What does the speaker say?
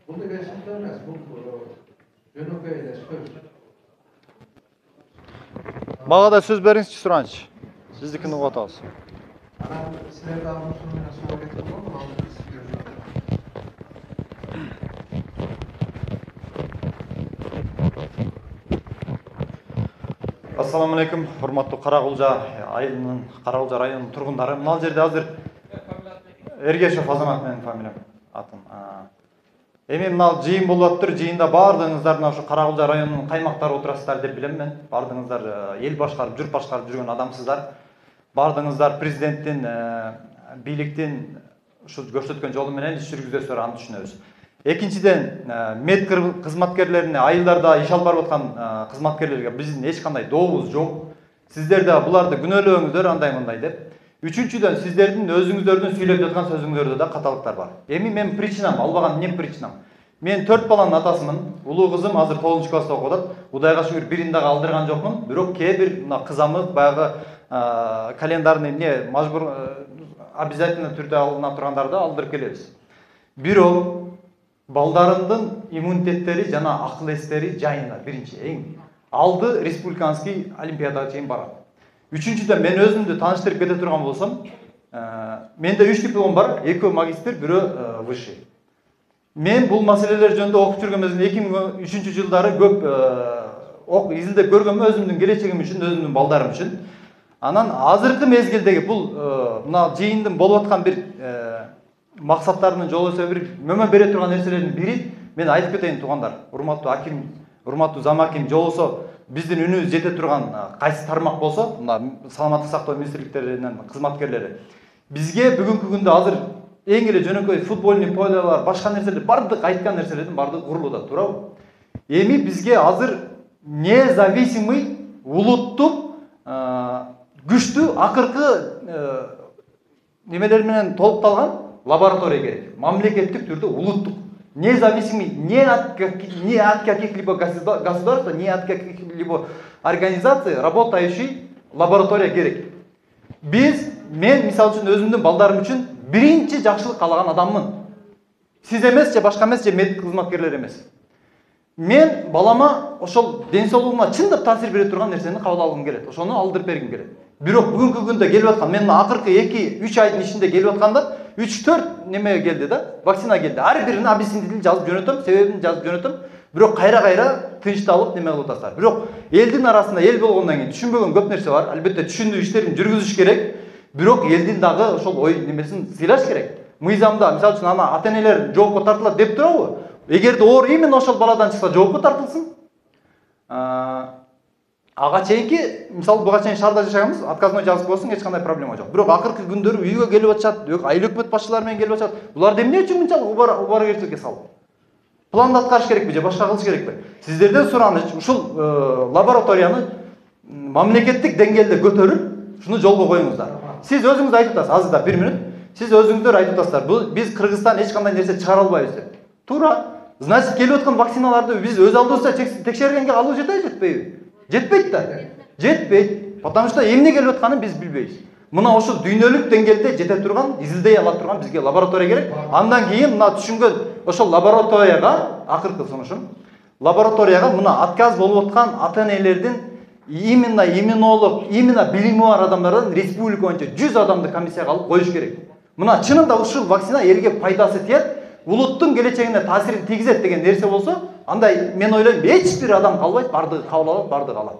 Бул деген шарт эмес, бул жөнөкөй эле сөз. Мага да сөз бериңизчи Суранч. Сиздикini угуп атабыз. Анан силер дагы ушуну менен сууга кетип болдуңузбу? Ассаламу алейкум, урматтуу Каракулжа айылынын, Каракулжа районунун тургундары. Мына жерде азыр Эргешев Азамат менин фамилиям, атым. Эми мына жыйын болуп атыптыр. Жыйында баардыгыңыздар мына ушу Каракулжа районунун каймактары отурасыздар деп билем мен. Баардыгыңыздар эл башкарып, журт башкарып жүргөн адамсыздар. Баардыгыңыздар президенттин, бийликтин ушу көрсөткөн жолу менен иш жүргүзөсүздөр, аны түшүнөбүз. Экинчиден, мед кызматкерлерине, айылдарда иш алып барып аткан кызматкерлерге биздин эч кандай дообуз жок. Сиздер да буларды күнөөлөөңүздөр андай-мындай деп. Үчүнчүдөн, сиздердин өзүңүздөрдүн сүйлөп жаткан сөзүңөрдө да каталыктар бар. Эми мен причинам, албаган эмне причинам? Мен 4 баланын атасымын. Улуу кызым азыр 9-класста окуп атат. Кудайга шүгүр бирин дагы алдырган жокмун. Бирок кээ бир мына кызамык баягы календарный эмне мажбур обязательно түрдө алына тургандарды алдырып келебиз. Бирок балдарымдын иммунитеттери жана акыл эстери жайында биринчи эң алды республиканский олимпиадага чейин барат. Үчүнчүдөн, мен өзүмдү тааныштырып кете турган болсом, менде 3 диплом бар, 2 магистр, 1 высший. Мен бул маселелер жөнүндө окуп жүргөн мезгилде 2003 жылдары көп изилдеп көргөм өзүмдүн келечегим үчүн, өзүмдүн балдарым үчүн. Анан азыркы мезгилдеги бул мына жыйындын болуп аткан бир максаттарынын жолу бир мөмө бере турган нерселердин бири, мен айтып кетейин туугандар, урматтуу аким, урматтуу зам аким, жолусо биздин үнүбүз жете турган кайсы тармак болсо, мына саламаттык сактоо министрликтеринин кызматкерлери. Бизге бүгүнкү күндө азыр эң эле жөнөкөй футбольный полялар, башка нерселер, бардык айткан нерселердин бардыгы курулуп атат, туурабы? Эми бизге азыр независимый улуттук күчтүү акыркы немелер менен толукталган лаборатория керек. Мамлекеттик түрдө улуттук. Независимый ни от каких-либо государств, ни от каких-либо организаций работающий лаборатория керек. Мен мисалы үчүн өзүмдүн балдарым үчүн биринчи жакшылык каалаган адаммын. Сиз эмес же башка эмес же мед кызматкерлер эмес. Мен балама ошол ден соолугуна чындап таасир бере турган нерсени кабыл алгым келет. Ошону алдырып бергим келет. Бирок бүгүнкү күндө келип аткан, мен акыркы 2-3 айдын ичинде келип атканда 3-4 неме келди да, вакцина келди. Ар бирин объяснительни жазып жөнөтөм, себебин жазып жөнөтөм. Бирок кайра тынчталып неме кылып атасыздар. Бирок элдин арасында эл болгондон кийин түшүнбөгөн көп нерсе бар. Албетте түшүндүү иштерин жүргүзүш керек. Бирок элдин дагы ошол ой немесин сыйлаш керек. Мыйзамда, мисалы үчүн ана ата-энелер жоопко тартылат деп турабы? Эгерде оор именно ошол баладан чыкса жоопко тартылсын. Ага чейинки, мисалы буга чейин шаарда жашаганбыз, отказной жазып койсоң эч кандай проблема жок. Бирок акыркы күндөрү үйгө келип атышат, айыл өкмөт башчылары менен келип атышат. Буларды эмне үчүн мынчалык убаргерчиликке салып? Планды аткарыш керекпи же башка кылыш керекпи? Сиздерден сураныч, ушул лабораторияны мамлекеттик деңгээлде көтөрүп, шуну жолго коюңуздар. Сиз өзүңүз айтып атасыз, азырда 1 минут. Сиз өзүңүздөр айтып атасыздар, биз Кыргызстан эч кандай нерсе чыгара албайбыз деп. Туура. Значит, келип аткан вакциналарды биз өз алдыбызда текшергенге алуу жетпейби? Жетпейт да. Жетпейт. Потому что эмне келип атканын биз билбейбиз. Мына ошол дүйнөлүк деңгээлде жете турган, изилдей ала турган бизге лаборатория керек. Андан кийин мына түшүнгөн ошол лабораторияга, акыркы сунушум, лабораторияга мына отказ болуп аткан ата-энелердин именно иммунолог, именно билими бар адамдардан республика боюнча 100 адамды комиссияга алып коюш керек. Мына чынында ушул вакцина элге пайдасы тиет, улуттун келечегине таасирин тийгизет деген нерсе болсо, андай мен ойлойм эч бир адам калбайт, бардыгы кабыл алат, бардыгы алат.